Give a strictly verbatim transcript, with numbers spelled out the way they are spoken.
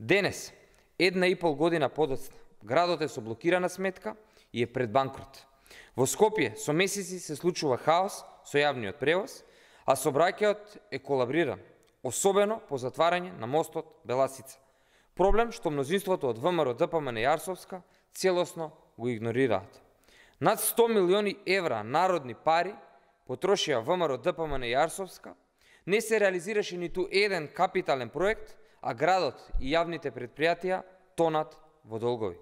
Денес, една и пол година подоцна, градот е со блокирана сметка и е пред банкрот. Во Скопје со месеци се случува хаос со јавниот превоз, а сообраќајот е колабриран, особено по затварање на мостот Беласица. Проблем што мнозинството од ВМРО Д П М Н Јарсовска целосно го игнорираат. Над сто милиони евра народни пари потрошија ВМРО Д П М Н Јарсовска, не се реализираше ниту еден капитален проект, а градот и јавните предпријатија тонат во долгови.